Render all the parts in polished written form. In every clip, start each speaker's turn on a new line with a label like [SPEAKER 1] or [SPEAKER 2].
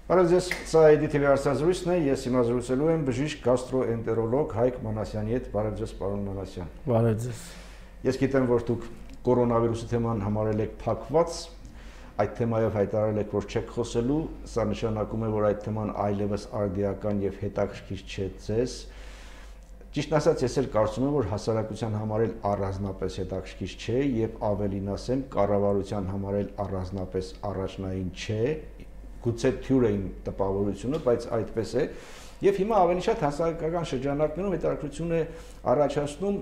[SPEAKER 1] Բարև ձեզ, սա EDTV հարցազրույցն է, ես հիմա զրուցելու եմ բժիշկ գաստրոենտերոլոգ Հայկ Մանասյանի հետ, բարև ձեզ պարոն Մանասյան։
[SPEAKER 2] Բարև ձեզ։
[SPEAKER 1] Ես գիտեմ, որ դուք կորոնավիրուսի թեման համարել եք փակված, այդ թեմայով հայտարարել եք, որ չեք խոսելու, սա նշանակում է, որ այդ թեման այլևս արդիական եւ հետաքրքիր չէ ձեզ։ Ճիշտ ասած, ես էլ կարծում եմ, որ հասարակության համար էլ առանձնապես հետաքրքիր չէ եւ ավելին ասեմ, կառավարության համար էլ առանձնապես առաջնային չէ, գուցե թյուր է իմ տպավորությունը, բայց այդպես է։ Եվ հիմա ավելի շատ հասարակական շրջանակներում հետաքրքրություն է առաջացնում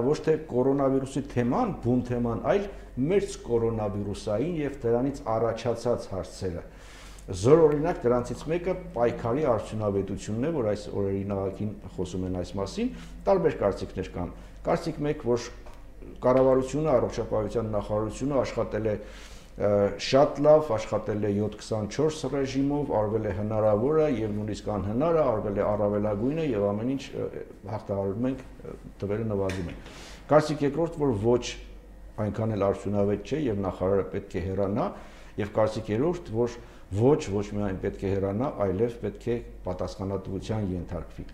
[SPEAKER 1] ոչ թե կորոնավիրուսի թեման, բուն թեման, այլ մերձ կորոնավիրուսային եւ դրանից առաջացած հարցերը։ Զոր օրինակ դրանցից մեկը պայքարի արդյունավետությունն է, որ այս օրերին աղաքին խոսում են այս մասին, տարբեր կարծիքներ կան։ Կարծիք մեկ, որ կառավարությունը, առողջապահության նախարարությունը աշխատել է շատ լավ, աշխատել է 7-24 ռեժիմով, արվել է հնարավորը եւ նույնիսկ անհնարը, արվել է առավելագույնը եւ ամեն ինչ հաղթահարում ենք, տվերը նվազում են։ Կարծիք երկրորդ, որ ոչ այնքան էլ արդյունավետ չէ եւ նախարարը պետք է հեռանա, եւ կարծիք երրորդ, որ ոչ միայն պետք է հեռանա, այլև պետք է պատասխանատվության ենթարկվի։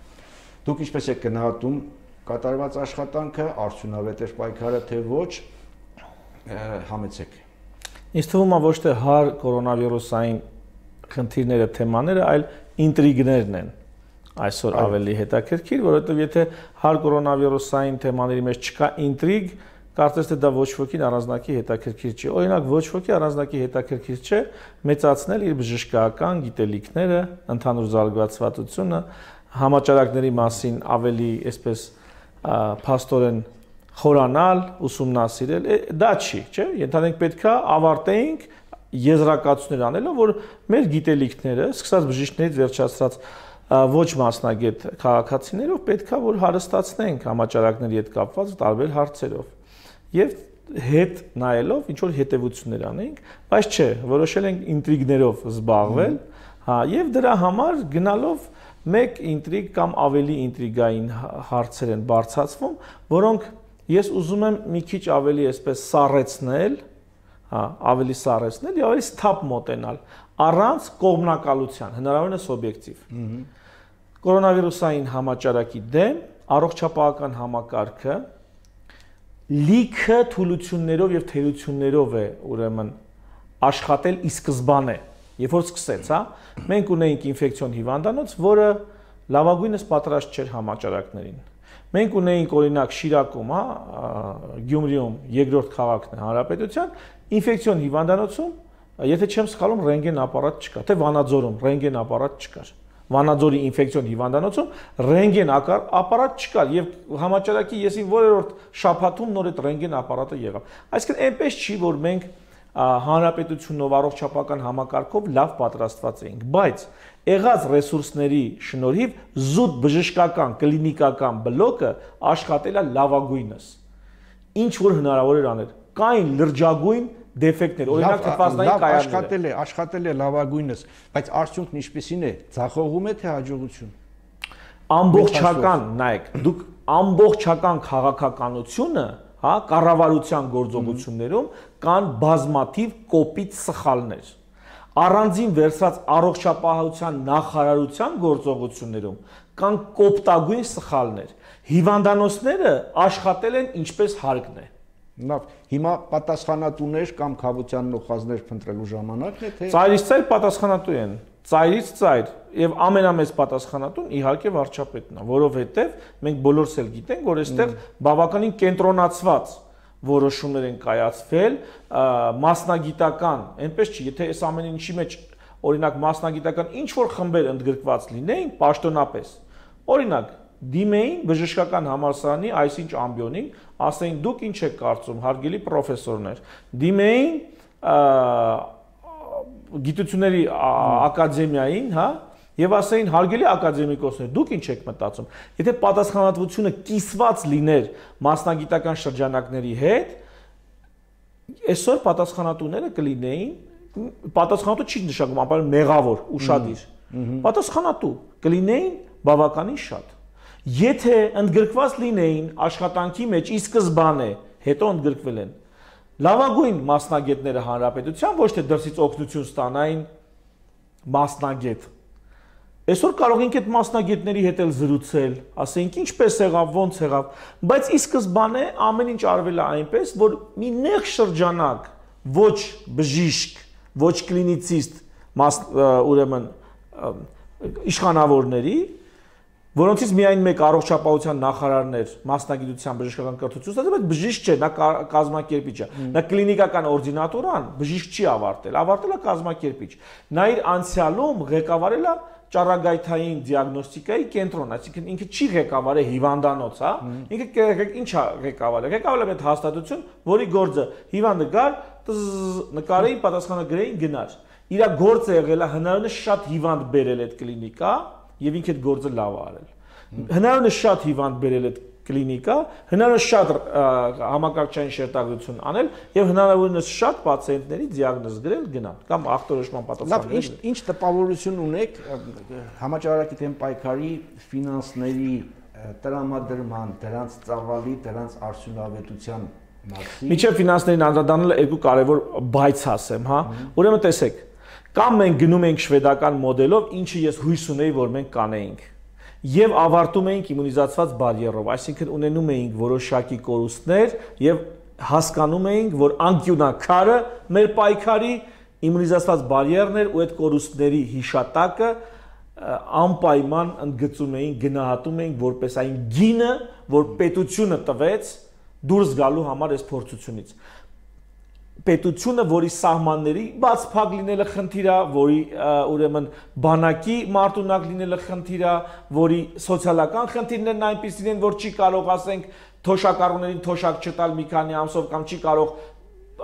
[SPEAKER 1] Դուք ինչպես եք գնահատում կատարված աշխատանքը, արդյունավետ էր պայքարը, թե ոչ, համեցեք։
[SPEAKER 2] Ինձ թվում է ոչ թե հար կորոնավիրուսային խնդիրները, թեմաները, այլ ինտրիգներն են այսօր ավելի հետաքրքիր, որովհետև եթե հար կորոնավիրուսային թեմաների մեջ չկա ինտրիգ, կարծես թե դա ոչ ոքին առանձնակի հետաքրքիր չի։ Օրինակ ոչ ոքի առանձնակի հետաքրքիր չէ մեծացնել իր բժշկական գիտելիքները, ընդհանուր զարգացվածությունը, համաճարակների մասին ավելի, այսպես փաստորեն խորանալ, ուսումնասիրել, դա չի, չէ՞։ Ենթադրենք պետքա ավարտեինք եզրակացություններ անելով, որ մեր գիտելիքները, սկսած բժիշկներից վերջացրած ոչ մասնագետ քաղաքացիներով պետքա որ հարստացնենք համաճարակների հետ կապված տարբեր հարցերով եւ հետ նայելով ինչ որ հետեւություններ անենք, բայց չէ, որոշել ենք ինտրիգներով զբաղվել, հա, եւ դրա համար գնալով մեկ ինտրիգ կամ ավելի ինտրիգային հարցեր են բարձրացվում, որոնք ես ուզում եմ մի քիչ ավելի այսպես սառեցնել, հա, ավելի սառեցնել եւ ավելի սթափ մոտենալ, առանց կողմնակալության, հնարավորինս օբյեկտիվ։ Կորոնավիրուսային համաճարակի դեմ առողջապահական համակարգը լիքը թուլություններով եւ թերություններով է ուրեմն աշխատել ի սկզբանե, երբ որ սկսեց, հա, մենք ունեինք ինֆեկցիոն հիվանդանոց, որը լավագույնս պատրաստ չէր համաճարակներին։ Մենք ունեինք օրինակ Շիրակում, հա, Գյումրիում երկրորդ քաղաքն է հանրապետության, ինֆեկցիոն հիվանդանոցում, եթե չեմ սխալվում, ռենտգեն ապարատ չկար, թե Վանաձորում ռենտգեն ապարատ չկար։ Վանաձորի ինֆեկցիոն հիվանդանոցում ռենտգեն ապարատ չկար եւ համաճարակի եսի որերորդ շաբաթում նոր այդ ռենտգեն ապարատը եղավ։ Այսինքն այնպես չի, որ մենք հանրապետությունով առողջապահական համակարգով լավ պատրաստված էինք, բայց եղած ռեսուրսների շնորհիվ զուտ բժշկական կլինիկական բլոկը աշխատել է լավագույնս։ Ինչ որ հնարավոր էր անել։ Կային լրջագույն դեֆեկտներ, օրինակ թթվածնային կայանները
[SPEAKER 1] աշխատել է լավագույնս, բայց արդյունքն ինչպեսին է, ձախողում է թե հաջողություն։
[SPEAKER 2] Ամբողջական, նայեք, դուք ամբողջական քաղաքականությունը, հա, կառավարության գործողություններում կան բազմաթիվ կոպիտ սխալներ։ Առանձին վերցրած առողջապահության նախարարության գործողություններում կան կոպտագույն սխալներ։ Հիվանդանոցները աշխատել են ինչպես հարկն է։
[SPEAKER 1] Լավ, հիմա պատասխանատուներ կամ քաղաքության նոխազներ փնտրելու ժամանակն է, թե
[SPEAKER 2] ծայրից ծայր պատասխանատու են, ծայրից ծայր, եւ ամենամեծ պատասխանատուն իհարկե վարչապետն է, որովհետեւ մենք բոլորս էլ գիտենք, որ այստեղ բավականին կենտրոնացված որոշումներ են կայացվել, մասնագիտական, այնպես չի, եթե այս ամեն ինչի մեջ օրինակ մասնագիտական ինչ որ խմբեր ընդգրկված լինեին պաշտոնապես, օրինակ դիմեին բժշկական համալսարանի այսինչ ամբիոնին, ասեին դուք ինչ եք կարծում, հարգելի պրոֆեսորներ, դիմեին գիտությունների ակադեմիային, հա, եւ ասեին հարգելի ակադեմիկոսներ, դուք ինչ եք մտածում։ Եթե պատասխանատվությունը կիսված լիներ մասնագիտական շրջանակների հետ, այսօր պատասխանատուները կլինեին, պատասխանատու չի նշանակում ապա մեղավոր, ուշադիր։ Պատասխանատու կլինեին բավականին շատ։ Եթե ընդգրկված լինեին աշխատանքի մեջ ի սկզբանե, հետո ընդգրկվել են լավագույն մասնագետները հանրապետության, ոչ թե դրսից օգնություն ստանային մասնագետ։ Այսօր կարող ենք այդ մասնագետների հետ էլ զրուցել, ասենք ինչպես եղավ, ոնց եղավ, բայց ի սկզբանե ամեն ինչ արվել է այնպես, որ մի նեղ շրջանակ ոչ բժիշկ, ոչ կլինիցիստ, ուրեմն իշխանավորների, որոնցից միայն մեկ առողջապահության նախարարն էր մասնագիտության բժշկական կրթություն ստացել, բայց բժիշկ չէ, նա կազմակերպիչ է։ Նա կլինիկական օրդինատորան բժիշկ չի ավարտել է կազմակերպիչ։ Նա իր անցյալում ղեկավարել է ճառագայթային դիագնոստիկայի կենտրոն, այսինքն ինքը չի ղեկավարել հիվանդանոց, հա։ Ինքը ինչ է ղեկավարել։ Ղեկավարել է այդ հաստատություն, որի գործը հիվանդը գար, նկարեին, պատասխանը գրեին, գնար։ Իր գործը եղել է հնարավորինս շատ հիվանդ բերել այդ կլինիկա եւ ինքը այդ գործը լավ արել։ Հնարավորինս շատ հիվանդ բերել այդ կլինիկա, հնարավորինս շատ համակարգչային շերտագրություն անել եւ հնարավորինս շատ պացիենտների դիագնոզ գրել գնալ կամ ախտորոշման պատասխանել։
[SPEAKER 1] Լավ, ինչ տպավորություն ունեք համաճարակի դեմ պայքարի ֆինանսների տրամադրման, դրանց ծավալի, դրանց արդյունավետության մասին։
[SPEAKER 2] Միջև ֆինանսներին անդրադառնալը երկու կարևոր բայց ասեմ, հա։ Ուրեմն տեսեք, կամ մենք գնում ենք շվեդական մոդելով, ինչը ես հույս ունեի, որ մենք կանեինք։ Եվ ավարտում էինք իմունիզացված բարիերով, այսինքն ունենում էինք որոշակի կորուստներ եւ հասկանում էինք, որ անկյունակարը մեր պայքարի իմունիզացված բարիերն էր ու այդ կորուստների հիշատակը անպայման ընդգծում էինք, գնահատում էինք որպես այն գինը, որ պետությունը տվեց դուրս գալու համար այս փորձությունից։ Պետությունը, որի սահմանների բացփակ լինելը խնդիր է, որի ուրեմն բանակի մարտունակ լինելը խնդիր է, որի սոցիալական խնդիրներն այնպիսին են, որ չի կարող, ասենք, թոշակառուներին թոշակ չտալ մի քանի ամսով կամ չի կարող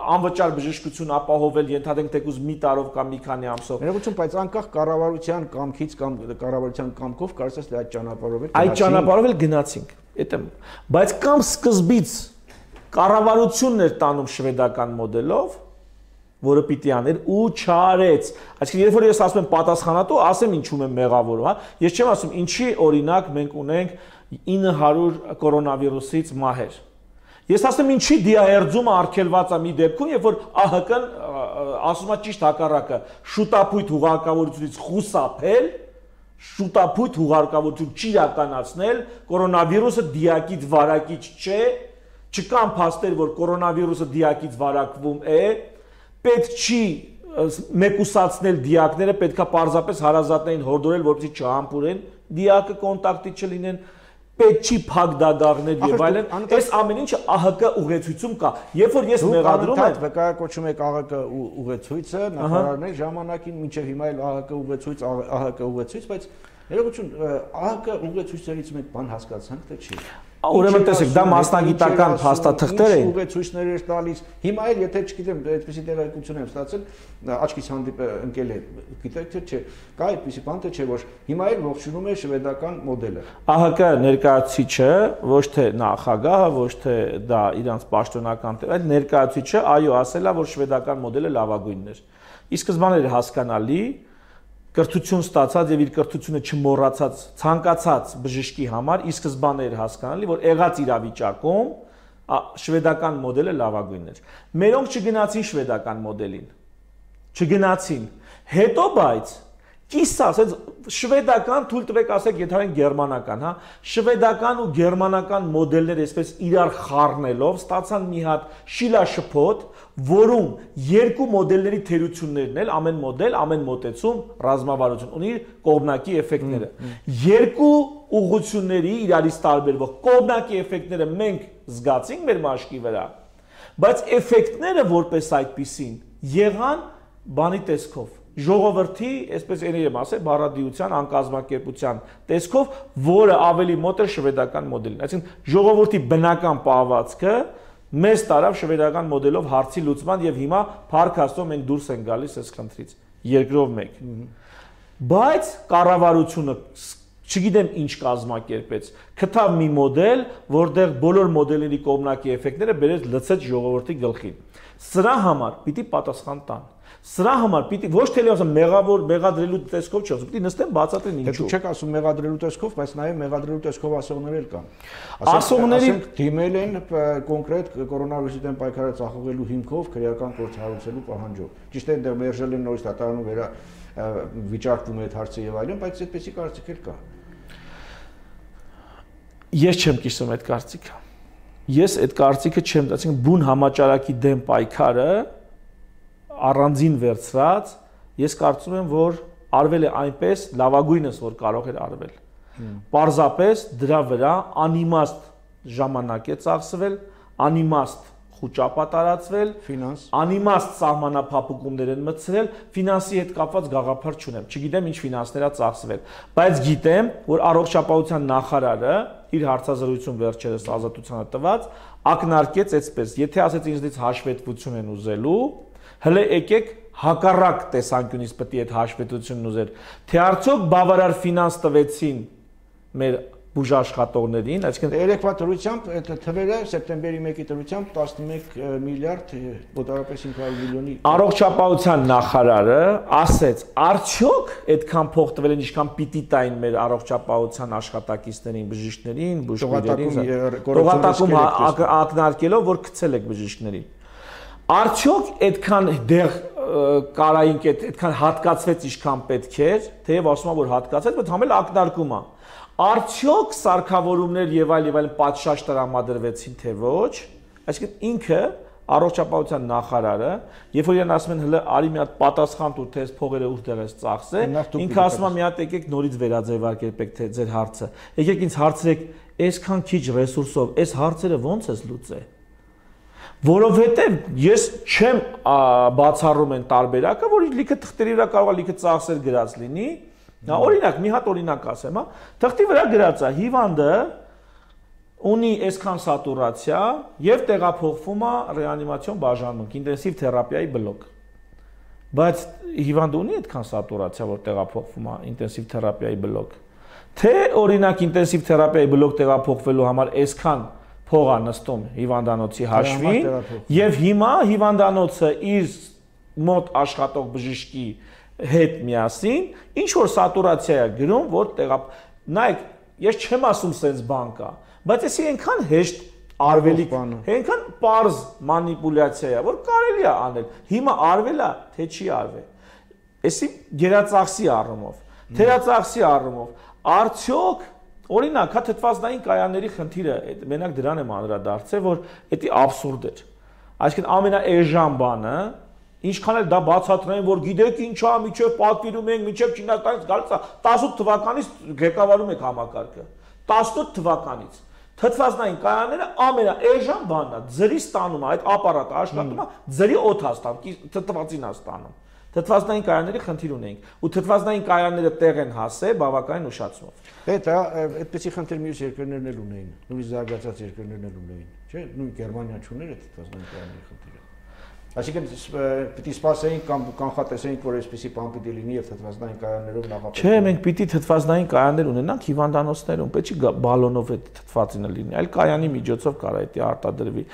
[SPEAKER 2] անվճար բժշկություն ապահովել, ենթադրենք թեկուզ մի տարով կամ մի քանի ամսով։
[SPEAKER 1] Ներողություն, բայց անկախ կառավարության կամքից կամ կառավարության կամքով կարծես թե այդ ճանապարհով էլ
[SPEAKER 2] այդ ճանապարհով էլ գնացինք։ Բայց կամ սկզբից կառավարությունն էր տանում շվեդական մոդելով, որը պիտի աներ ու չարեց։ Այսինքն երբ որ ես ասում եմ պատասխանատու, ասեմ ինչու եմ մեղավոր, հա։ Ես չեմ ասում ինչի օրինակ մենք ունենք 900 կորոնավիրուսից մահեր։ Ես ասում եմ ինչի դիահերձումը արգելված է մի դեպքում, երբ որ ԱՀԿ-ն ասում է ճիշտ հակառակը, շուտապույտ հուղարկավորությունից խուսափել, շուտապույտ հուղարկավորություն չիրականացնել, կորոնավիրուսը դիակից վարակիչ չէ, չկան փաստեր, որ կորոնավիրուսը դիակից վարակվում է, պետք չի մեկուսացնել դիակները, պետքա պարզապես հարազատներին հորդորել, որպեսզի չհամբուրեն դիակը կոնտակտի չլինեն, պետք չի փակ դագաղներ եւ այլն, այս ամեն ինչը ԱՀԿ ուղեցույցում կա։ Երբ որ ես մեղադրում եմ,
[SPEAKER 1] վկայակոչում եք ԱՀԿ ուղեցույցը, նախարարների ժամանակին մինչեւ հիմա էլ ԱՀԿ ուղեցույց, ԱՀԿ ուղեցույց, բայց ներողություն, ԱՀԿ ուղեցույցներից մենք բան հասկացանք, թե չի։
[SPEAKER 2] Ուրեմն տեսեք, դա մասնագիտական փաստաթղթեր են։
[SPEAKER 1] Ուղեցույցներ էր տալիս։ Հիմա էլ եթե չգիտեմ, այդպեսի տեղեկություն եմ ստացել, աչքից ընկել է, գիտեք թե չէ, կա այդպեսի բան թե չէ, որ հիմա էլ ողջունում է շվեդական մոդելը։
[SPEAKER 2] ԱՀԿ ներկայացուցիչը, ոչ թե նախագահը, ոչ թե դա իրանց պաշտոնական, այլ ներկայացուցիչը, այո, ասել է, որ շվեդական մոդելը լավագույնն էր։ Ի սկզբանե էր հասկանալի, կրթություն ստացած եւ իր կրթությունը չմոռացած ցանկացած բժշկի համար ի սկզբանե էր հասկանալի, որ եղած իրավիճակում շվեդական մոդելը լավագույնն էր։ Մերոնք չգնացին շվեդական մոդելին։ Չգնացին։ Հետո բայց կիսա, ասած շվեդական, թույլ տվեք ասեք, ենթադրենք գերմանական, հա, շվեդական ու գերմանական մոդելներ այսպես իրար խառնելով ստացան մի հատ շիլաշփոթ, որում երկու մոդելների թերություններն էլ ամեն մոդել, ամեն մոտեցում ռազմավարություն ունի կողմնակի էֆեկտները։ Երկու ուղղությունների իրարից տարբերվող կողմնակի էֆեկտները մենք զգացինք մեր մաշկի վրա, բայց էֆեկտները որպես այդպիսին եղան բանի տեսքով, ժողովրդի, այսպես եմ ասել, բառադիության, անկազմակերպության տեսքով, որը ավելի մոտ էր շվեդական մոդելին։ Այսինքն ժողովրդի բնական պահվածքը մեզ տարավ շվեդական մոդելով հարցի լուծման եւ հիմա փառք Աստծո մենք դուրս ենք գալիս այս խնդրից երկրով մեկ։ Բայց կառավարությունը չգիտեմ ինչ կազմակերպեց, գտավ մի մոդել, որտեղ բոլոր մոդելների կողմնակի էֆեկտները բերեց լցեց ժողովրդի գլխին։ Սրա համար պիտի պատասխան տան։ Սրա համար պիտի ոչ թե ասեմ մեղադրելու տեսքով չի, պիտի նստեն բացատրեն ինչու։
[SPEAKER 1] Չեք ասում մեղադրելու տեսքով, բայց նաև մեղադրելու տեսքով ասողներ էլ կան։
[SPEAKER 2] Ասողների
[SPEAKER 1] դիմել են կոնկրետ կորոնավիրուսի դեմ պայքարը ծախողելու հիմքով քրեական գործ հարուցելու պահանջով։ Ճիշտ է, դեռ մերժել են նորից դատարանում վիճարկվում է այդ հարցը եւ այլն, բայց այդպեսի կարծիք էլ կա։
[SPEAKER 2] Ես չեմ կիսում այդ կարծիքը։ Ես այդ կարծիքը չեմ, ասենք բուն համաճարակի դեմ պայքարը առանձին վերցրած, ես կարծում եմ, որ արվել է այնպես լավագույնս, որ կարող էր արվել։ Պարզապես դրա վրա անիմաստ ժամանակ է ծախսվել, անիմաստ խուճապ տարածվել, անիմաստ սահմանափակումներ են մտցրել, ֆինանսի հետ կապված գաղափար չունեմ, չգիտեմ ինչ ֆինանսներ է ծախսվել, բայց գիտեմ, որ առողջապահության նախարարը իր հարցազրույցում վերջերս Ազատությանը տված ակնարկեց այսպես, եթե ասեց ինձնից հաշվետվություն են ուզելու, հələ եկեք հակառակ տեսանկյունից պետք է այդ հաշվետվությունն ուզեր, թե արդյոք բավարար ֆինանս տվեցին մեր բուժաշխատողներին, այսինքն
[SPEAKER 1] երեկվա դրությամբ այդ թվերը սեպտեմբերի 1-ի դրությամբ 11 միլիարդ մոտավորապես 500 միլիոնի
[SPEAKER 2] առողջապահության նախարարը ասեց, արդյոք այդքան փող տվել են, ինչքան պիտի տային մեր առողջապահության աշխատակիցներին, բժիշկներին, բուժքույրերին, տողատակում ակնարկելով, որ գցել եք բժիշկներին։ Արդյոք այդքան դեղ կարային այդքան հատկացվեց, ինչքան պետք էր, թեև ասում եմ, որ հատկացեց, բայց համել ակնարկում է։ Արդյոք սարքավորումներ եւ այլ պատշաճ տրամադրվեցին, թե ոչ, այսինքն ինքը առողջապահության նախարարը, երբ որ իրեն ասում են հələ արի մի հատ պատասխան տուր, թե այս փողերը ուր ես ծախսել, ինքը ասում է մի հատ եկեք նորից վերաձևարկեք թե ձեր հարցը։ Եկեք ինձ հարցրեք, այսքան քիչ ռեսուրսով այս հարցերը ոնց ես լուծել։ Որովհետև ես չեմ բացառում են տարբերակը, որ լիքը թղթերի վրա կարող է լիքը ծախսեր գրած լինի։ Նա օրինակ, մի հատ օրինակ ասեմ, հա, թղթի վրա գրած է, հիվանդը ունի այսքան սատուրացիա եւ տեղափոխվում է ռեանիմացիոն բաժանմունք, ինտենսիվ թերապիայի բլոկ։ Բայց հիվանդը ունի այդքան սատուրացիա, որ տեղափոխվում է ինտենսիվ թերապիայի բլոկ։ Թե օրինակ ինտենսիվ թերապիայի բլոկ տեղափոխվելու համար այսքան փող է նստում հիվանդանոցի հաշվին եւ հիմա հիվանդանոցը իր մոտ աշխատող բժշկի հետ միասին ինչ որ սատուրացիա է գրում, որ նայեք, ես չեմ ասում sense բան կա, բայց էսի այնքան հեշտ արվելիք, այնքան պարզ մանիպուլյացիա է, որ կարելի է անել։ Հիմա արվել է, թե չի արվել։ Էսի գերածախսի առումով, թերածախսի առումով, արդյոք օրինակ, հա թթվածնային կայանների խնդիրը, մենակ դրան եմ անդրադարձել, որ դա աբսուրդ էր։ Այսինքն ամենաէժան բանը, ինչքան էլ դա բացատրեն, որ գիտեք ինչա, միջև պատվիրում ենք, միջև Չինաստանից գալիս է, 18 թվականից ղեկավարում եք համակարգը։ 18 թվականից թթվածնային կայանները ամենաէժան բանն է, ձրի ստանում է, այդ ապարատը աշխատում է, ձրի օդ է ստանում, թթվածին է ստանում։ Թթվածնային կայանների խնդիր ունենք, ու թթվածնային կայանները տեղ են հասել բավականին ուշացումով։
[SPEAKER 1] Դա այդպեսի խնդիր մյուս երկրներն էլ ունեին, նույնիսկ զարգացած երկրներն էլ ունեին, չէ՞, նույն Գերմանիան չուներ այդ թթվածնային կայանների խնդիրը։ Այսինքն պիտի սպասեինք կամ կանխատեսեինք, որ այսպեսի բան պիտի լինի եւ թթվածնային կայաններով նախապետք։
[SPEAKER 2] Չէ, մենք պիտի թթվածնային կայաններ ունենանք հիվանդանոցներում, պետք չի բալոնով այդ թթվածինը լինի, այլ կայանի միջոցով կարա դա արտադրվի։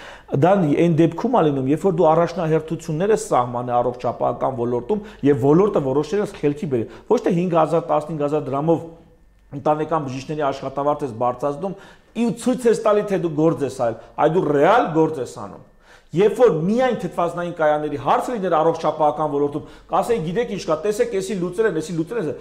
[SPEAKER 2] Դա այն դեպքում է լինում, երբ որ դու առաջնահերթություններ ես սահմանը առողջապահական ոլորտում եւ ոլորտը որոշել ես խելքի բերի։ Ոչ թե 5000-15000 դրամով ընտանեկան բժիշկների աշխատավարձ ես բարձրացնում, ու ցույց ես տալի, թե դու գործ ես այլ, այ դու ռեալ գործ ես անում։ Երբ որ միայն թթվածնային կայանների հարցը լիներ առողջապահական ոլորտում, կասեի, գիտեք ինչ կա, տեսեք, էսի լուծել են, էսի լուծել են։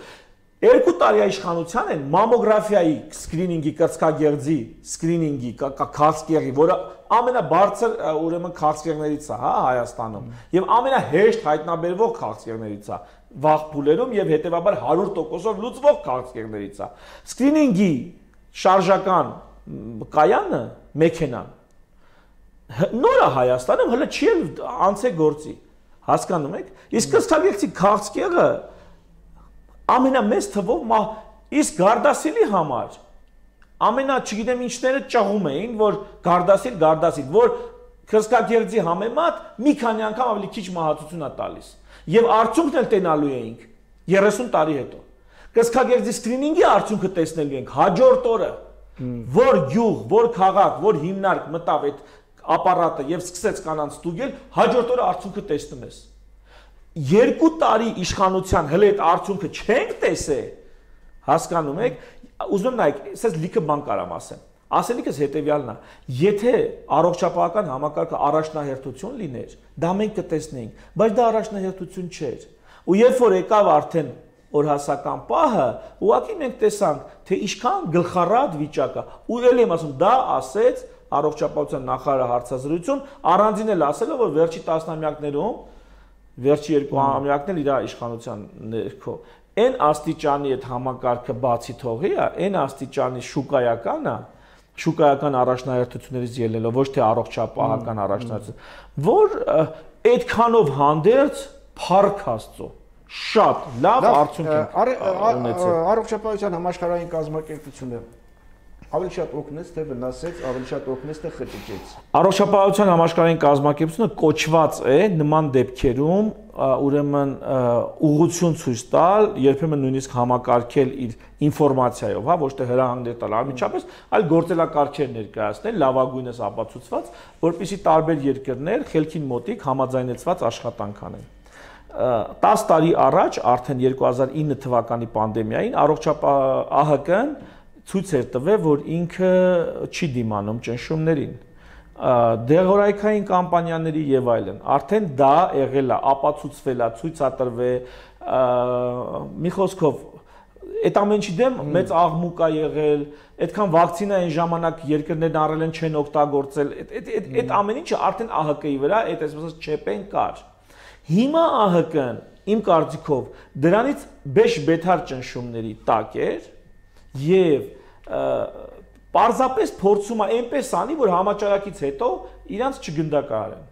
[SPEAKER 2] 2 տարի իշխանության են մամոգրաֆիայի սկրինինգի, կրծքագեղձի սկրինինգի, քաղցկեղի, որը ամենաբարձր ուրեմն քաղցկեղներից է, հա, Հայաստանում, եւ ամենահեշտ հայտնաբերվող քաղցկեղներից է, վաղ փուլերում եւ հետեւաբար 100%-ով լուծվող քաղցկեղներից է։ Սկրինինգի շարժական կայանը, մեքենան նորը Հայաստանում հələ չի անցե գործի, հասկանում եք, իսկ կրծքագեղձի քաղցկեղը ամենամեծ թվով իսկ Գարդասիլի համար ամենա չգիտեմ ինչները ճղում էին, որ Գարդասիլ, որ կրծքագեղձի համեմատ մի քանի անգամ ավելի քիչ մահացություն է տալիս, եւ արդյունքն էլ տենալու էինք 30 տարի հետո։ Կրծքագեղձի սկրինինգի արդյունքը տեսնելու ենք հաջորդ օրը, որ գյուղ, որ քաղաք, որ հիմնարկ մտավ այդ ապարատը եւ սկսեց կանանց ստուգել, հաջորդ օրը արդյունքը տեսնում ես։ 2 տարի իշխանության հələ այդ արդյունքը չենք տեսել, հասկանում եք, ուզում եմ նայեք, ասես լիքը բան կարամ ասեմ։ Ասելիքս հետեւյալն է, եթե առողջապահական համակարգը առաջնահերթություն լիներ, դա մենք կտեսնեինք, բայց դա առաջնահերթություն չէր։ Ու երբ որ եկավ արդեն օրհասական պահը, ուղղակի մենք տեսանք, թե ինչքան գլխառատ վիճակը, ու ելի եմ ասում, դա ասեց առողջապահության նախարարը հարցազրույցում, առանձին էլ ասելով, որ վերջի տասնամյակներում, վերջի 2 ամյակն էլ իր իշխանության ներքո, այն աստիճանի այդ համակարգը բացի թողի է, այն աստիճանի շուկայական առաջնահերթություններից ելնելով, ոչ թե առողջապահական առաջնահերթություն, որ այդքանով հանդերձ փառք Աստծո շատ լավ արդյունք ունեցել։
[SPEAKER 1] Առողջապահության համաշխարհային կազմակերպությունը ավելի շատ օգնեց, թե վնասեց, ավելի շատ օգնեց, թե խճճեց։
[SPEAKER 2] Առողջապահության համաշխարհային կազմակերպությունը կոչված է նման դեպքերում ուրեմն ուղղություն ցույց տալ, երբեմն նույնիսկ համակարգել իր ինֆորմացիայով, հա, ոչ թե հրահանգներ տալ անմիջապես, այլ գործելակարգեր ներկայացնել, լավագույնս ապացուցված, որպեսզի տարբեր երկրներ խելքին մոտիկ համաձայնեցված աշխատանք անեն։ 10 տարի առաջ, արդեն 2009 թվականի պանդեմիային, ԱՀԿ-ն ցույց էր տվել, որ ինքը չի դիմանում ճնշումներին, դեղորայքային կամպանիաների եւ այլն, արդեն դա եղել է, ապացուցվել է, ցույցատրվել, մի խոսքով, այդ ամենի դեմ մեծ աղմուկ է եղել, այդքան վակցինա այն ժամանակ երկրներն առել են չեն օգտագործել, այդ ամեն ինչը արդեն ԱՀԿ-ի վրա, այդ այսպես չեպեն կար։ Հիմա ԱՀԿ-ն, իմ կարծիքով, դրանից բեշ-բեթար ճնշումների տակ էր եւ պարզապես փորձում է այնպես անի, որ համաճարակից հետո իրանց չգնդակահարեն։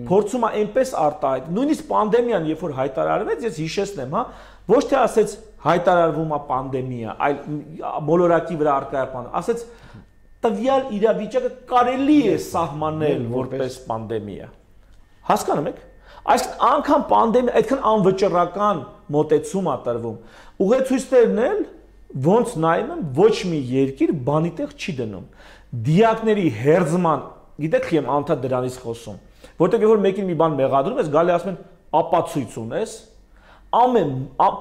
[SPEAKER 2] Փորձում է այնպես արտահայտ, նույնիսկ պանդեմիան, երբ որ հայտարարվեց, ես հիշեցնեմ, հա, ոչ թե ասեց հայտարարվում է պանդեմիա, այլ մոլորակի վրա արկայապան, ասեց տվյալ իրավիճակը կարելի է սահմանել որպես պանդեմիա։ Հասկանում եք։ Այսինքն անգամ պանդեմիա այդքան անվճռական մոտեցում է տրվում։ Ուղեցույցներն էլ ոնց նայում եմ, ոչ մի երկիր բանի տեղ չի դնում։ Դիակների հերձման, գիտեք եմ անդադ դրանից խոսում, որտեղ որ մեկին մի բան մեղադրում ես, գալի ասում են ապացույց ունես, ամեն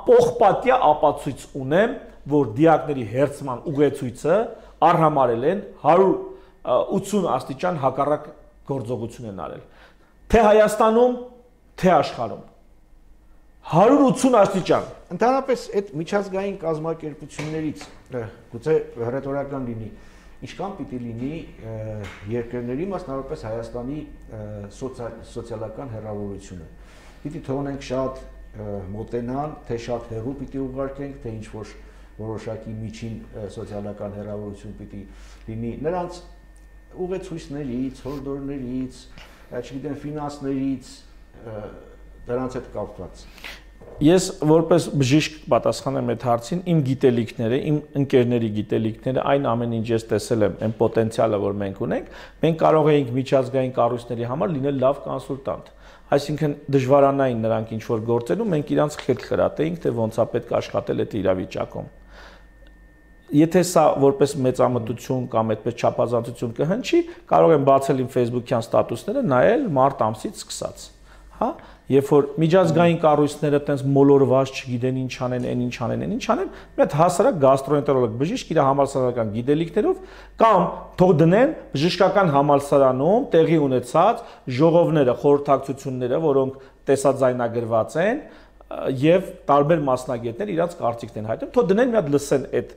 [SPEAKER 2] պողպատյա ապացույց ունեմ, որ դիակների հերձման ուղեցույցը արհամարել են 180 աստիճան հակառակ գործողություն են արել։ Թե Հայաստանում, թե աշխարհում 180 աստիճան։
[SPEAKER 1] Ընդհանրապես այդ միջազգային կազմակերպություններից գուցե հռետորական լինի, ինչքան պիտի լինի երկրների, մասնավորապես Հայաստանի սոցիալական հեռավորությունը։ Պիտի թողնենք շատ մոտենան, թե շատ հեռու պիտի ուղարկենք, թե ինչ որ որոշակի միջին սոցիալական հեռավորություն պիտի լինի նրանց ուղեցույցներից, հորդորներից, չգիտեմ, ֆինանսներից, դրանց հետ կապված։
[SPEAKER 2] Ես որպես բժիշկ պատասխանեմ այդ հարցին, իմ գիտելիքները, իմ ընկերների գիտելիքները, այն ամեն ինչ ես տեսել եմ, այն պոտենցիալը, որ մենք ունենք, մենք կարող էինք միջազգային կառույցների համար լինել լավ կոնսուլտանտ։ Այսինքն դժվարանային նրանք ինչ որ գործելու, մենք իրանց խելք խրատեինք, թե ոնց է պետք աշխատել այդ իրավիճակում։ Եթե սա որպես մեծամտություն կամ այդպես չափազանցություն կհնչի, կարող եմ բացել իմ Facebook-յան ստատուսները, նայել մարտ ամսից սկսած, հա, երբ որ միջազգային կառույցները տենց մոլորված չգիտեն ինչ անեն, այն ինչ անեն, այն ինչ անեն, մի հատ հասարակ գաստրոենտերոլոգ բժիշկ իր համալսարանական գիտելիքներով կամ թող դնեն բժշկական համալսարանում տեղի ունեցած ժողովները, խորհրդակցությունները, որոնք տեսաձայնագրված են, եւ տարբեր մասնագետներ իրաց կարծիքն են հայտնում, թող դնեն մի հատ լսեն այդ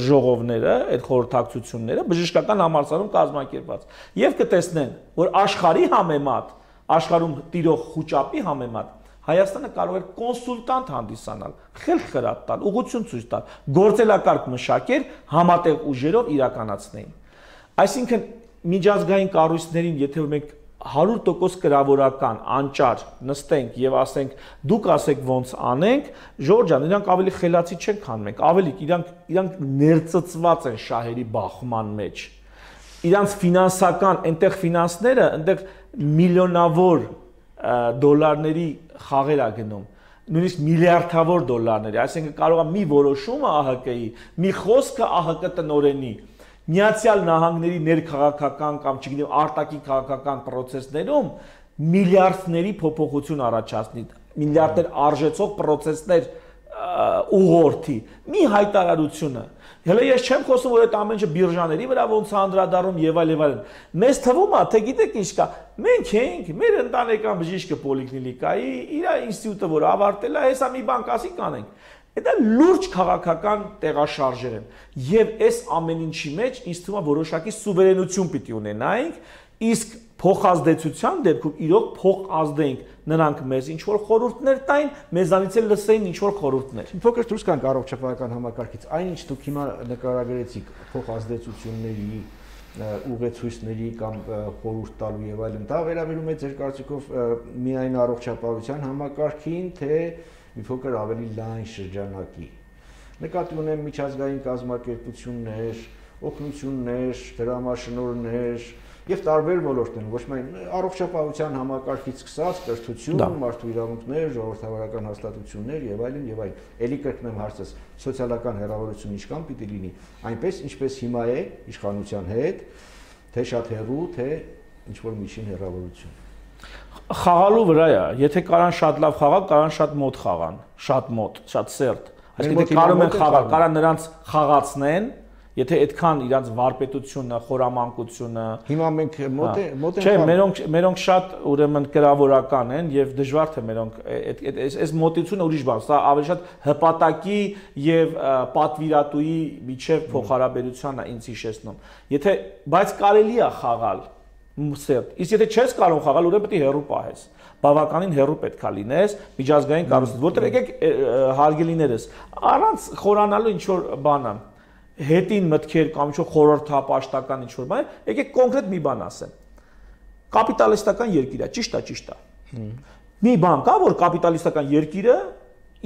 [SPEAKER 2] ժողովները, այդ խորհրդակցությունները բժշկական համալսարանում կազմակերպված եւ կտեսնեն, որ աշխարհի համեմատ, աշխարհում տիրող խոճապի համեմատ Հայաստանը կարող էր կոնսուլտանտ հանդիսանալ, խելք խրատ տալ, ուղղություն ցույց տալ, գործելակարգ մշակել, համատեղ ուժերով իրականացնեին։ Այսինքն միջազգային կառույցներին, եթե մենք 100% կրավորական, անճար նստենք եւ ասենք դուք ասեք ոնց անենք, Ժորժ ջան, իրանք ավելի խելացի չեն, քան մենք, ավելի իրանք ներծծված են շահերի բախման մեջ։ Իրանք ֆինանսական, այնտեղ ֆինանսները, այնտեղ միլիոնավոր դոլարների խաղեր է գնում, նույնիսկ միլիարդավոր դոլարների, այսինքն կարող է մի որոշումը ԱՀԿ-ի, մի խոսքը ԱՀԿ տնօրենի Միացյալ Նահանգների ներքաղաքական կամ չգիտեմ արտաքին քաղաքական process-ներում միլիարդների փոփոխություն առաջացնի, միլիարդներ արժեցող process-ներ ուղղորդի, մի հայտարարությունը, Հələ ես չեմ խոսում, որ այդ ամենը բիրժաների վրա ոնց է անդրադառնում եւ այլն։ Մեզ թվում է, թե գիտեք ինչ կա։ Մենք ենք, մեր ընտանեկան բժիշկը պոլիկլինիկայի, իր ինստիտուտը, որ ավարտել է, հեսա մի բան կասի կանենք։ Դա լուրջ քաղաքական տեղաշարժեր են եւ այս ամեն ինչի մեջ ինձ թվում է որոշակի սուվերենություն պիտի ունենայինք, իսկ փոխազդեցության դեպքում իրոք փոխազդենք նրանք մեզ ինչ որ խորհուրդներ տային, մեզանից էլ լսեին ինչ որ խորհուրդներ։
[SPEAKER 1] Փոքր դուրս գանք առողջապահական համակարգից, այնինչ դուք հիմա նկարագրեցիք փոխազդեցությունների, ուղեցույցների կամ խորհուրդ տալու եւ այլն, դա վերաբերում է ձեր կարծիքով միայն առողջապահության համակարգին, թե մի փոքր ավելի լայն շրջանակի։ Նկատի ունեմ միջազգային կազմակերպություններ, օգնություններ, դրամաշնորհներ եւ տարբեր ոլորտներ, ոչ միայն առողջապահության համակարգից սկսած կրթություն, մարդու իրավունքներ, ժողովրդավարական հաստատություններ եւ այլն եւ այլն։ Էլի կրկնեմ հարցս, սոցիալական հեռավորություն ինչքան պիտի լինի, այնպես ինչպես հիմա է իշխանության հետ, թե շատ հեռու, թե ինչ որ միջին հեռավորություն։
[SPEAKER 2] Խաղալու վրա է, եթե կարան շատ լավ խաղալ, կարան շատ մոտ խաղան, շատ մոտ, շատ սերտ։ Այսինքն կարող են խաղալ, կարան նրանց խաղացնեն, եթե այդքան իրանց վարպետությունը, խորամանկությունը։
[SPEAKER 1] Հիմա մենք մոտ ենք։
[SPEAKER 2] Չէ, մերոնք շատ ուրեմն կրավորական են եւ դժվար թե մերոնք այս մոտությունը ուրիշ բան, սա ավելի շատ հպատակի եւ պատվիրատուի միջև փոխհարաբերությանն է ինձ հիշեցնում։ Եթե բայց կարելի է խաղալ սերտ։ Իսկ եթե չես կարող խաղալ, ուրեմն պետք է հեռու պահես։ Բավականին հեռու պետք է լինես միջազգային կառույցից, որտեղ եկեք հարգելիներս, առանց խորանալու ինչ որ բանը, հետին մտքեր կամ ինչ որ խորհրդապաշտական ինչ որ բան, եկեք կոնկրետ մի բան ասեմ։ Կապիտալիստական երկիր է, ճիշտ է։ Մի բան կա, որ կապիտալիստական երկիրը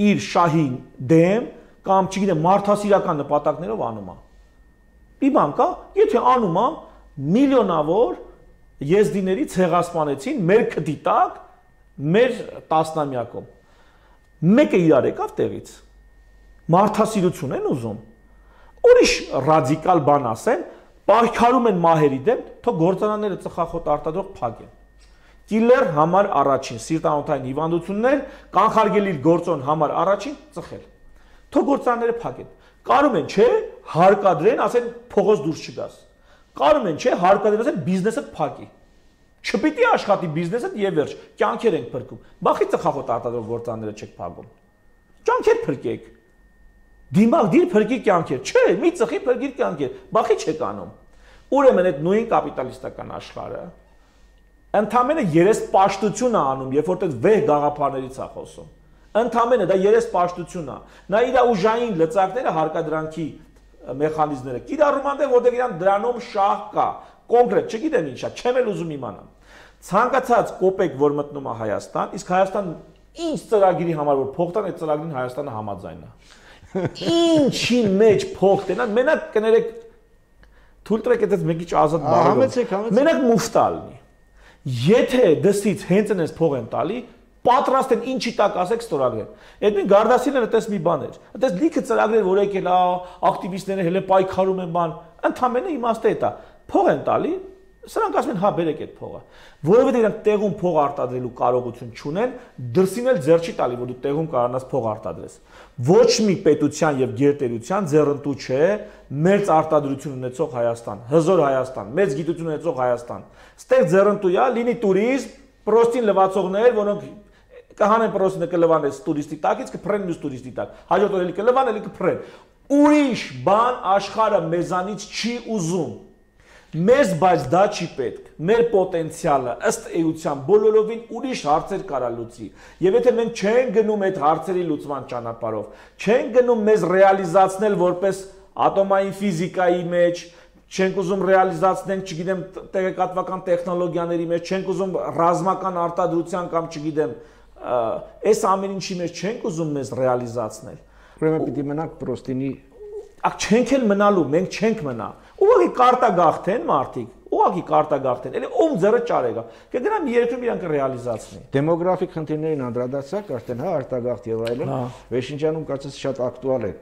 [SPEAKER 2] իր շահին դեմ կամ չգիտեմ մարդասիրական նպատակներով անում է։ Մի բան կա, եթե անում է միլիոնավոր եզդիների ցեղասպանեցին մեր քդի տակ, մեր տասնամյակում։ Մեկը իրար եկավ տեղից։ Մարդասիրություն են ուզում։ Ուրիշ ռադիկալ բան ասեն, պայքարում են մահերի դեմ, թող գործարանները ծխախոտ արտադրող փակեն։ Կիլեր համար առաջին, սիրտանոթային հիվանդություններ, կանխարգելիչ գործոն համար առաջին ծխել։ Թող գործարանները փակեն։ Կարում են, չէ, հարկադրեն, ասեն փողոց դուրս չգաս։ Կարում են, չէ, հարկադրեն, ասեն բիզնեսը փակի։ Չպիտի աշխատի բիզնեսը եւ վերջ, կյանքեր ենք փրկում։ Բախի ծխախոտ արտադրող գործարանները չեք փակում։ Կյանքեր փրկեք։ Դիմագդիր փրկի կյանքեր, չէ, մի ծխի փրկի կյանքեր, բախի չեք անում։ Ուրեմն այդ նույն կապիտալիստական աշխարհը ընդամենը երեսպաշտություն է անում, երբ որ այդ վեհ գաղափարներից է խոսում։ Ընդամենը դա երեսպաշտություն է։ Նա իր ուժային լծակները հարկադրանքի մեխանիզմները կիրառում անդե, որտեղ իրան դրանում շահ կա։ Կոնկրետ չգիտեմ ինչա, չեմ էլ ուզում իմանալ։ Ցանկացած կոպեկ, որ մտնում է Հայաստան, իսկ Հայաստան ինչ ծրագրի համար որ փող տան, այդ ծրագրին Հայաստանը համաձայն է։ Ինչի մեջ փող տենան, մենակ կներեք թույլ տվեք այդպես մի քիչ ազատ բառերով։ Մենակ մուֆտա լինի։ Եթե դսից հենց այնպես փող են տալի, պատրաստ են ինչի տակ ասեք ստորագրեն։ Այդ նույն Գարդասինը այդպես մի բան էր։ Այդպես լիքը ծրագրեր որ եկել է, ակտիվիստները հենց պայքարում են բան, ընդամենը իմաստը է դա։ Փող են տալի, սրանք ասում են հա բերեք այդ փողը, որովհետեւ իրանք տեղում փող արտադրելու կարողություն չունեն, դրսին էլ ձեռ չի տալի, որ դու տեղում կարողանաս փող արտադրես։ Ոչ մի պետության եւ գերտերության ձեռնտու չէ մեծ արտադրություն ունեցող Հայաստան, հզոր Հայաստան, մեծ գիտություն ունեցող Հայաստան։ Ստեղ ձեռնտու է, լինի տուրիզմ, պրոստին լվացողներ, որոնք կհանեն պրոստինը կլվանես տուրիստի տակից, կփրեն մյուս տուրիստի տակ։ Հաջորդ օրը կլվան, էլի կփրեն։ Ուրիշ բան աշխարհը մեզանից չի ուզում։ Մեզ բայց դա չի պետք։ Մեր պոտենցիալը ըստ էության բոլորովին ուրիշ հարցեր կարա լուծի։ Եվ եթե մենք չենք գնում այդ հարցերի լուծման ճանապարհով, չենք գնում մեզ ռեալիզացնել որպես ատոմային ֆիզիկայի մեջ, չենք ուզում ռեալիզացնենք, չգիտեմ, տեղեկատվական տեխնոլոգիաների մեջ, չենք ուզում ռազմական արտադրության կամ չգիտեմ, այս ամեն ինչի մեջ չենք ուզում մեզ ռեալիզացնել։
[SPEAKER 1] Ուրեմն պիտի մնանք պրոստինի
[SPEAKER 2] չենք էլ մնալու, մենք չենք մնա։ Ուղղակի կարտագաղթեն մարդիկ, ուղղակի կարտագաղթեն, էլի ում ձեռը ճարեգա։ Կգնամ երկրում իրանք ռեալիզացնի։
[SPEAKER 1] Դեմոգրաֆիկ խնդիրներին անդրադարձակ արդեն, հա, արտագաղթ եւ այլն, Վերջնջանում կարծես շատ ակտուալ է։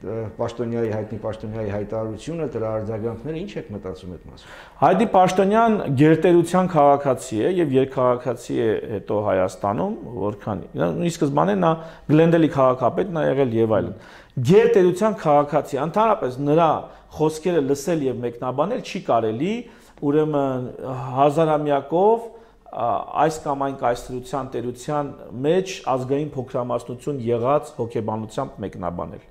[SPEAKER 1] Պաշտոնյայի հայտարարությունը, դրա արձագանքները ինչ եք մտածում այդ մասում։
[SPEAKER 2] Հայդի Պաշտոնյան գերտերության քաղաքացի է եւ երկքաղաքացի է հետո Հայաստանում, որքան ի սկզբանե նա Գլենդելի քաղաքապետն է եղել եւ այլն։ Գերտերության քաղաքացի, ընդհանրապես նրա խոսքերը լսել եւ մեկնաբանել չի կարելի, ուրեմն հազարամյակով այս կամ այն կայսրության տերության մեջ ազգային փոքրամասնություն եղած հոգեբանությամբ մեկնաբանել։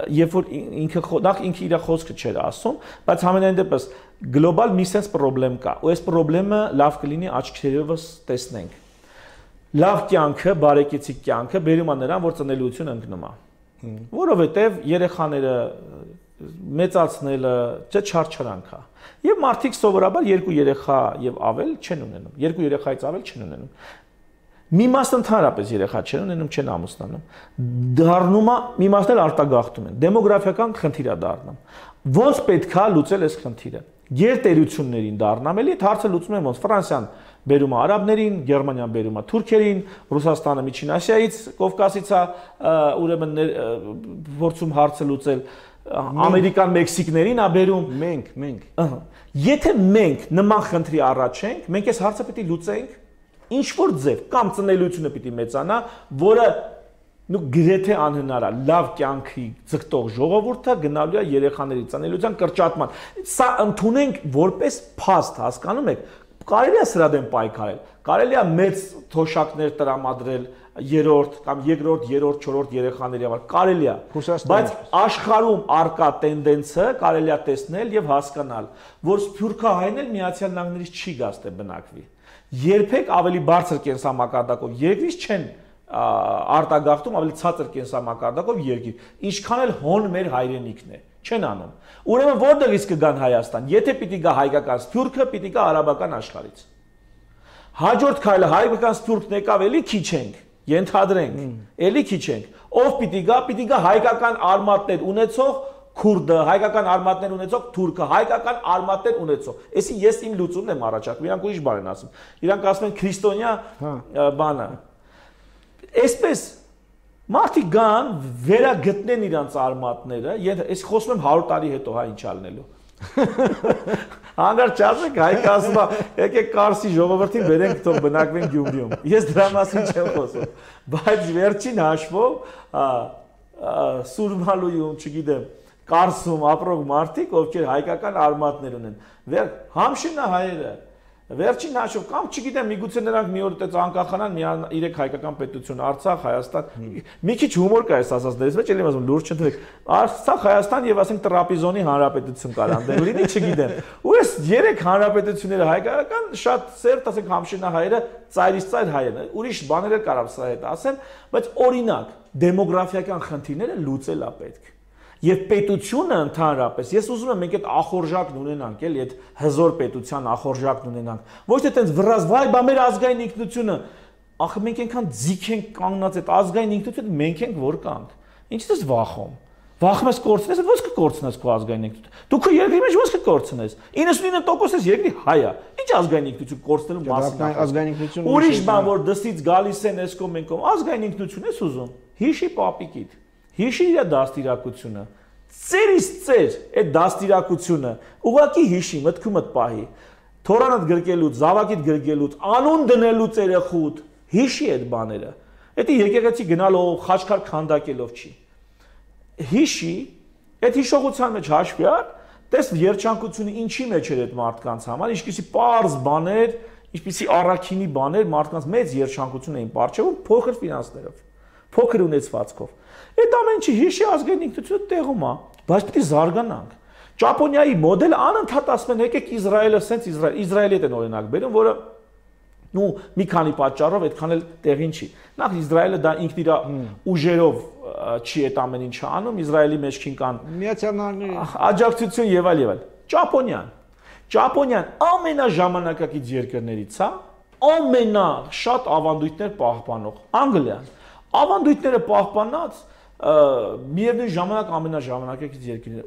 [SPEAKER 2] Երբ որ ինքը իր խոսքը չէր ասում, բայց համենայն դեպս գլոբալ մի sense problem կա, ու այս խնդրումը լավ կլինի աչքերովս տեսնենք։ Լավ կյանքը, բարեկեցիկ կյանքը բերում է նրան, որ ծնելիություն ընկնում է։ Որովհետև երեխաները մեծացնելը չարչարանք է։ Եվ մարդիկ սովորաբար երկու երեխա եւ ավել չեն ունենում։ Երկու երեխայից ավել չեն ունենում։ Մի մասն ընդհանրապես երեխա չեն ունենում, չեն ամուսնանում։ Դառնում է մի մասն էլ արտագաղթում են։ Դեմոգրաֆիական խնդիր է դառնում։ Ոնց պետք է լուծել այս խնդիրը։ Գերտերություններին դառնամ էլի հարցը լուծում են ոնց Ֆրանսիան բերում է արաբներին, Գերմանիան բերում է թուրքերին, Ռուսաստանը Միջին Ասիայից, Կովկասից է ուրեմն փորձում հարցը լուծել, Ամերիկան Մեքսիկներին է բերում։
[SPEAKER 1] Մենք։
[SPEAKER 2] Եթե մենք նման խնդրի առաջ ենք, մենք այս հարցը պետք է լուծենք ինչ որ ձև կամ ծնելիությունը պիտի մեծանա, որը գրեթե անհնար է լավ կյանքի ձգտող ժողովուրդը գնալու է երեխաների ծնելիության կրճատման։ Սա ընդունենք որպես փաստ, հասկանում եք, կարելի է սրա դեմ պայքարել, կարելի է մեծ թոշակներ տրամադրել երրորդ կամ երկրորդ, երրորդ, չորրորդ երեխաների համար, կարելի է, բայց աշխարհում արկա տենդենսը կարելի է տեսնել եւ հասկանալ, որ սփյուռքահայն էլ Միացյալ Նահանգներից չի գաստե բնակվի։ Երբեք ավելի բարձր կենսամակարդակով երկրից չեն արտագաղթում ավելի ցածր կենսամակարդակով երկիր, ինչքան էլ հոն մեր հայրենիքն է, չեն անում։ Ուրեմն որտեղից կգան Հայաստան, եթե պիտի գա հայկական սփյուռքը, պիտի գա արաբական աշխարհից։ Հաջորդ քայլը հայկական սփյուռքն եկավ, էլի քիչ ենք, ենթադրենք, էլի քիչ ենք։ Ով պիտի գա հայկական արմատներ ունեցող քուրդը, հայկական արմատներ ունեցող թուրքը, հայկական արմատներ ունեցող։ Էսի ես իմ լուծումն եմ առաջարկում, իրանք ուրիշ բան են ասում։ Իրանք ասում են քրիստոնյա բանը։ Այսպես մարդիկ գան, վերագտնեն իրանց արմատները, ես խոսում եմ 100 տարի հետո, հա, ինչ ալնելու։ Հանգար չասեք, հայկը ասում է, եկեք Կարսի ժողովրդին բերենք, թող բնակվեն Գյումրիում։ Ես դրա մասին չեմ խոսում, բայց վերջին հաշվով Սուրմալույում, չգիտեմ, Կարսում ապրող մարդիկ, ովքեր հայկական արմատներ ունեն, Համշինա հայերը, վերջին հաշվով կամ չգիտեմ, միգուցե նրանք մի օր այդպես անկախանան, իրեք հայկական պետություն, Արցախ, Հայաստան, մի քիչ հումոր կա այս ասածներից մեջ, էլի ասում լուրջ չընտրեք, Արցախ, Հայաստան եւ ասենք Տրապիզոնի հանրապետություն կար անդեմ, լինի չգիտեմ։ Ու այս երեք հանրապետությունները հայկական շատ սերտ, ասենք Համշինա հայերը, ծայրից ծայր հայերն, ուրիշ բաներ էլ կարամ սա հետ ասեմ, բայց օրինակ, դեմոգրաֆիական խնդիրները լուծել է պետք։ Եվ պետությունը ընդհանրապես, ես ուզում եմ մենք այդ ախորժակն ունենանք, էլի այդ հզոր պետության ախորժակն ունենանք։ Ոչ թե տենց վրազ, վայ, բա մեր ազգային ինքնությունը, ախր մենք այնքան ձիգ ենք կանգնած այդ ազգային ինքնությունը, մենք ենք որ կանք։ Ինչի՞ ես վախում։ Վախում ես կորցնես, ո՞նց կկորցնես քո ազգային ինքնությունը։ Դու քո երկրի մեջ ո՞նց կկորցնես։ 99% ես երկրի հայ է։ Ինչ ազգային ինքնություն կորցնելու մասին։
[SPEAKER 1] Ազգային ինքնություն
[SPEAKER 2] ուրիշ բան, որ դստից գալիս են էսկոմ մենկոմ, ազգային ինքնություն ես ուզում։ Հիշի պապիկիդ։ Հիշի իր դաստիարակությունը, ծերից ծեր այդ դաստիարակությունը, ուղղակի հիշի, մտքումդ պահի, թորանդ գրկելուց, զավակիդ գրկելուց, անուն դնելուց երեխուդ, հիշի այդ բաները, դա եկեղեցի գնալով, խաչքար քանդակելով չի, հիշի, այդ հիշողության մեջ հաշվի առ, տես երջանկությունը ինչի մեջ էր այդ մարդկանց համար, ինչպիսի պարզ բաներ, ինչպիսի առաքինի բաներ մարդկանց մեծ երջանկություն էին պարչևում փոքր ֆինանսներով, փոքր ունեցվածքով։ Այդ ամեն ինչի հիշի ազգային ինքնությունը տեղում է, բայց պիտի զարգանանք։ Ճապոնիայի մոդելը անընդհատ ասում են, եկեք Իսրայելը, սենց Իսրայելի հետ են օրինակ բերում, որը մի քանի պատճառով այդքան էլ տեղին չի։ Նախ Իսրայելը դա ինքն իր ուժերով չի այդ ամեն ինչը անում, Իսրայելի մեջքին կան
[SPEAKER 1] Միացյալ Նահանգների
[SPEAKER 2] աջակցություն եւ այլ։ Ճապոնիան ամենաժամանակակից երկրներից է, ամենաշատ ավանդույթներ պահպանող։ Անգլիան ավանդույթները պահպանած միևնույն ժամանակ ամենաժամանակակից երկիրն է։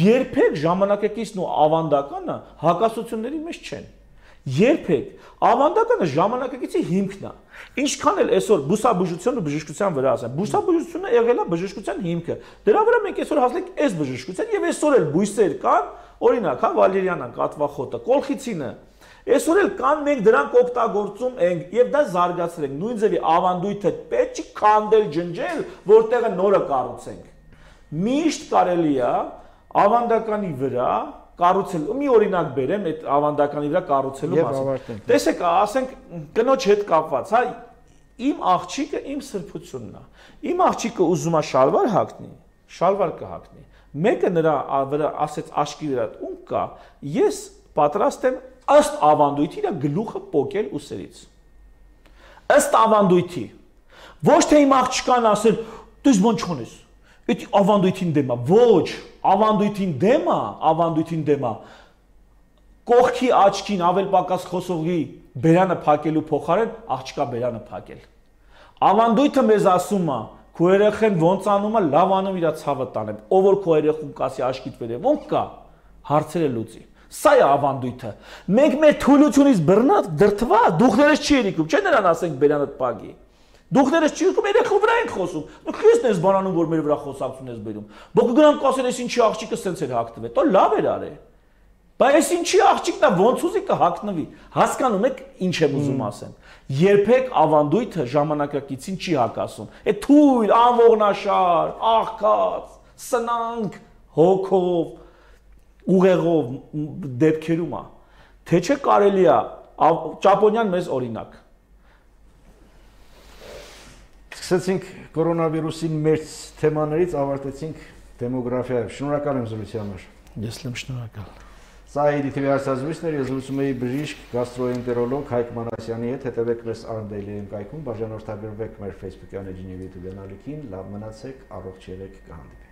[SPEAKER 2] Երբեք ժամանակակիցն ու ավանդականը հակասությունների մեջ չեն։ Երբեք ավանդականը ժամանակակիցի հիմքն է։ Ինչքան էլ այսօր բուսաբուժությունը բժշկության վրա ասեն, բուսաբուժությունը եղել է բժշկության հիմքը։ Դրա վրա մենք այսօր հասնենք այս բժշկության եւ այսօր էլ բույսեր կան, օրինակ, հա, վալերիանան, կատվախոտը, կոլխիցինը։ Այսօր էլ կան մենք դրանք օգտագործում ենք եւ դա զարգացրել ենք։ Նույն ձևի ավանդույթը պետք չի քանդել, ջնջել, որտեղը նորը կառուցենք։ Միշտ կարելի է ավանդականի վրա կառուցել։ Մի օրինակ բերեմ այդ ավանդականի վրա կառուցելու մասին։ Տեսեք, ասենք կնոջ հետ կապված, հա, իմ աղջիկը իմ սրբությունն է։ Իմ աղջիկը ուզում է շալվար հագնի, շալվար կհագնի։ Մեկը նրա վրա ասեց աշկի վրա ում կա, ես պատրաստ եմ ըստ ավանդույթի իր գլուխը պոկել ուսերից։ Ըստ ավանդույթի։ Ոչ թե իմ աղջկան ասել, դու բան չունես։ Այդ ավանդույթին դեմ է։ Ոչ, ավանդույթին դեմ է։ Կողքի աչքին ավել պակաս խոսողի բերանը փակելու փոխարեն աղջկա բերանը փակել։ Ավանդույթը մեզ ասում է, քո երեխեն ոնց անում է, լավ անում իր ցավը տանեմ։ Ով որ քո երեխուն կասի աշկիդ վերև, ոնց կա, հարցերը լուծի։ Սա է ավանդույթը։ Մենք մեր թույլությունից բռնած դրթված, դուխներս չի երիկում, չէ՞ նրան ասենք բերանդ պագի։ Դուխներս չի երիկում, երեխու վրա ենք խոսում։ Դու քեզ ես բանանում, որ մեր վրա խոսակցություն ես բերում։ Բոք գնամ կասեն, այս ինչի աղջիկը սենց էր հագնվել։ Տո լավ էր արել։ Բայց այս ինչի աղջիկն է, ոնց ուզի կհագնվի։ Հասկանում եք ինչ եմ ուզում ասեմ։ Երբեք ավանդույթը ժամանակակիցին չի հակասում։ Այդ թույլ, անողնաշար, աղքած, սնանկ, հոգով ուղեղով դեպքերում է, թե չէ կարելի է Ճապոնիան մեզ օրինակ։
[SPEAKER 1] Սկսեցինք կորոնավիրուսին մեծ թեմաներից, ավարտեցինք դեմոգրաֆիայով։ Շնորհակալ եմ զրույցի համար։
[SPEAKER 2] Ես եմ շնորհակալ։
[SPEAKER 1] Սա IDTV հարցազրույցն էր, ես զրուցում էի բժիշկ գաստրոենտերոլոգ Հայկ Մանասյանի հետ, հետևեք մեզ Arndale-ի կայքում, բաժանորդագրվեք մեր Facebook-յան էջին եւ YouTube-յան ալիքին, լավ մնացեք, առողջ եղեք, կհանդիպենք։